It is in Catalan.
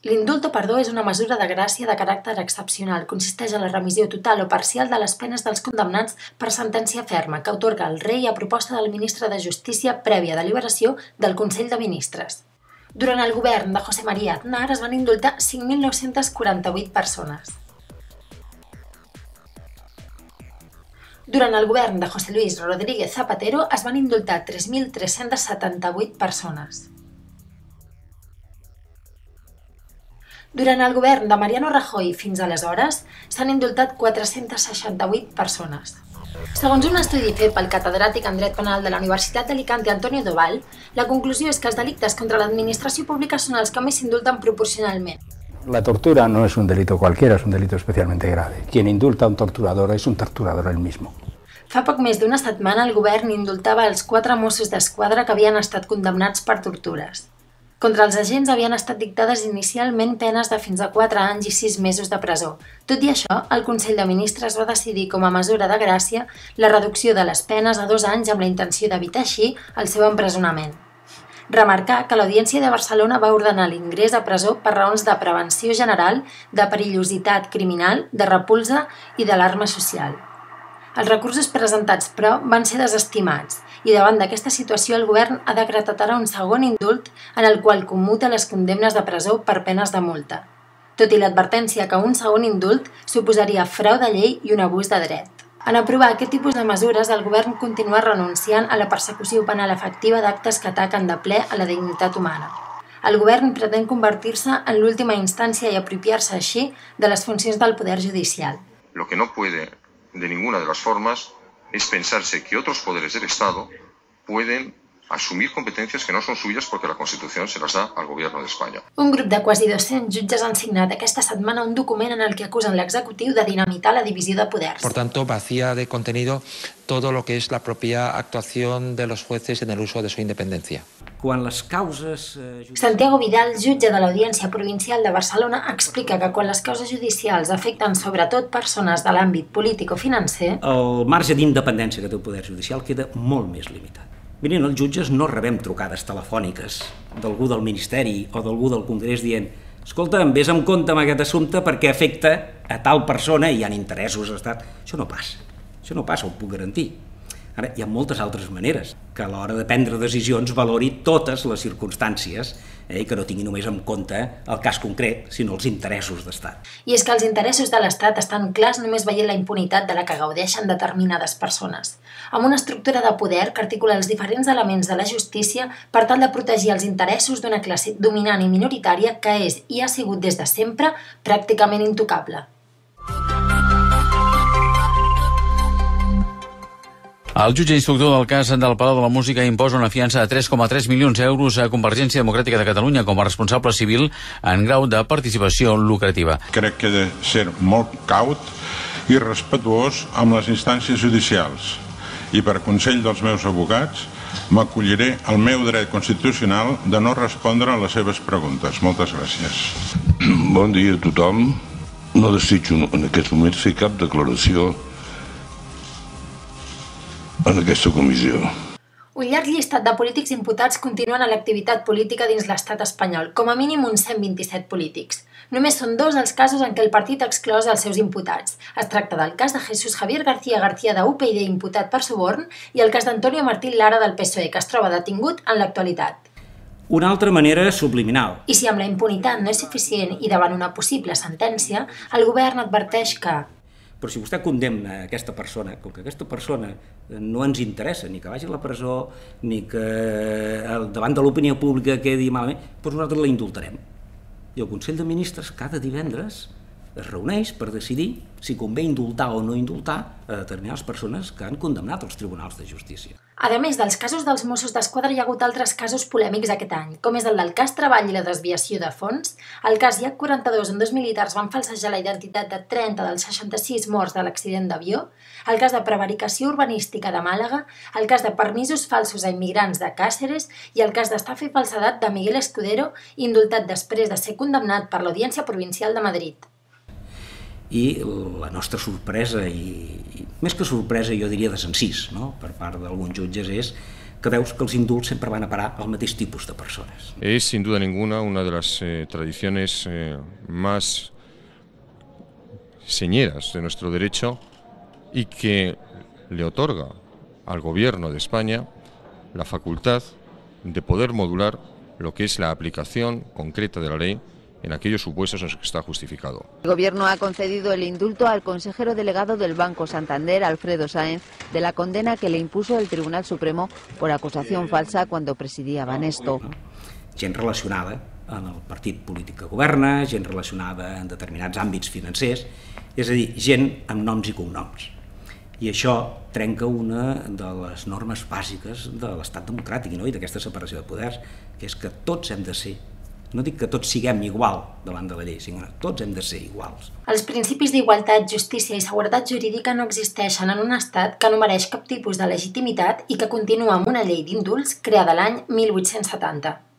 L'indult o perdó és una mesura de gràcia de caràcter excepcional. Consisteix en la remissió total o parcial de les penes dels condemnats per sentència ferma que atorga el rei a proposta del ministre de Justícia prèvia deliberació del Consell de Ministres. Durant el govern de José María Aznar es van indultar 5.948 persones. Durant el govern de José Luis Rodríguez Zapatero es van indultar 3.378 persones. Durant el govern de Mariano Rajoy fins aleshores s'han indultat 468 persones. Segons un estudi fet pel catedràtic en dret penal de la Universitat d'Alicante Antonio Doval, la conclusió és que els delictes contra l'administració pública són els que més s'indulten proporcionalment. La tortura no es un delito cualquiera, es un delito especialmente grave. Quien indulta a un torturador es un torturador él mismo. Fa poc més d'una setmana el govern indultava els 4 Mossos d'Esquadra que havien estat condemnats per tortures. Contra els agents havien estat dictades inicialment penes de fins a 4 anys i 6 mesos de presó. Tot i això, el Consell de Ministres va decidir com a mesura de gràcia la reducció de les penes a 2 anys amb la intenció d'evitar així el seu empresonament. Remarcar que l'Audiència de Barcelona va ordenar l'ingrés a presó per raons de prevenció general, de perillositat criminal, de repulsa i d'alarma social. Els recursos presentats, però, van ser desestimats i davant d'aquesta situació el govern ha decretat ara un segon indult en el qual commuta les condemnes de presó per penes de multa, tot i l'advertència que un segon indult suposaria frau de llei i un abús de dret. En aprovar aquest tipus de mesures, el govern continua renunciant a la persecució penal efectiva d'actes que ataquen de ple a la dignitat humana. El govern pretén convertir-se en l'última instància i apropiar-se així de les funcions del poder judicial. Lo que no puede de ninguna de las formas es pensarse que otros poderes del Estado pueden asumir competencias que no son suyas porque la Constitución se las da al Gobierno de España. Un grup de quasi 200 jutges han signat aquesta setmana un document en el que acusen l'executiu de dinamitar la divisió de poders. Por tanto, vacía de contenido todo lo que es la propia actuación de los jueces en el uso de su independencia. Quan les causes... Santiago Vidal, jutge de l'Audiència Provincial de Barcelona, explica que quan les causes judicials afecten sobretot persones de l'àmbit polític o financer, el marge d'independència que té el poder judicial queda molt més limitat. Miren, els jutges no rebem trucades telefòniques d'algú del Ministeri o d'algú del Congrés dient escolta, vés amb compte amb aquest assumpte perquè afecta a tal persona i hi ha interessos d'estat. Això no passa, ho puc garantir. Ara, hi ha moltes altres maneres que a l'hora de prendre decisions valori totes les circumstàncies i que no tingui només en compte el cas concret, sinó els interessos d'estat. I és que els interessos de l'estat estan clars només veient la impunitat de la que gaudeixen determinades persones, amb una estructura de poder que articula els diferents elements de la justícia per tal de protegir els interessos d'una classe dominant i minoritària que és i ha sigut des de sempre pràcticament intocable. El jutge instructor del cas del Palau de la Música imposa una fiança de 3,3 milions d'euros a Convergència Democràtica de Catalunya com a responsable civil en grau de participació lucrativa. Crec que he de ser molt caut i respetuós amb les instàncies judicials i per consell dels meus advocats m'acolliré al meu dret constitucional de no respondre a les seves preguntes. Moltes gràcies. Bon dia a tothom. No desitjo en aquests moments fer cap declaració en aquesta comissió. Un llarg llistat de polítics imputats continuen a l'activitat política dins l'estat espanyol, com a mínim uns 127 polítics. Només són 2 els casos en què el partit ha exclòs els seus imputats. Es tracta del cas de Jesús Javier García García de UPyD imputat per suborn i el cas d'Antonio Martín Lara del PSOE, que es troba detingut en l'actualitat. Una altra manera subliminal. I si amb la impunitat no és suficient i davant una possible sentència, el govern adverteix que però si vostè condemna aquesta persona, com que aquesta persona no ens interessa ni que vagi a la presó ni que davant de l'opinió pública quedi malament, doncs nosaltres la indultarem. I el Consell de Ministres cada divendres es reuneix per decidir si convé indultar o no indultar a determinades persones que han condemnat els tribunals de justícia. A més dels casos dels Mossos d'Esquadra, hi ha hagut altres casos polèmics aquest any, com és el del cas Treball i la desviació de fons, el cas IAC 42, on 2 militars van falsejar la identitat de 30 dels 66 morts de l'accident d'avió, el cas de prevaricació urbanística de Màlaga, el cas de permisos falsos a immigrants de Càceres i el cas d'estafa i falsedat de Miguel Escudero, indultat després de ser condemnat per l'Audiència Provincial de Madrid. I la nostra sorpresa, i més que sorpresa jo diria desencís, no? Per part d'alguns jutges és que veus que els indults sempre van a parar al mateix tipus de persones. Es sin duda ninguna una de las tradiciones más señeras de nuestro derecho y que le otorga al Gobierno de España la facultad de poder modular lo que es la aplicación concreta de la ley en aquellos supuestos en los que está justificado. El Gobierno ha concedido el indulto al consejero delegado del Banco Santander, Alfredo Sáenz, de la condena que le impuso el Tribunal Supremo por acusación falsa cuando presidía Banesto. Gent relacionada en el partit polític que governa, gent relacionada en determinats àmbits financers, és a dir, gent amb noms i cognoms. I això trenca una de les normes bàsiques de l'estat democràtic i d'aquesta separació de poders, que és que tots hem de ser, no dic que tots siguem igual davant de la llei, sinó que tots hem de ser iguals. Els principis d'igualtat, justícia i seguretat jurídica no existeixen en un estat que no mereix cap tipus de legitimitat i que continua amb una llei d'indults creada l'any 1870.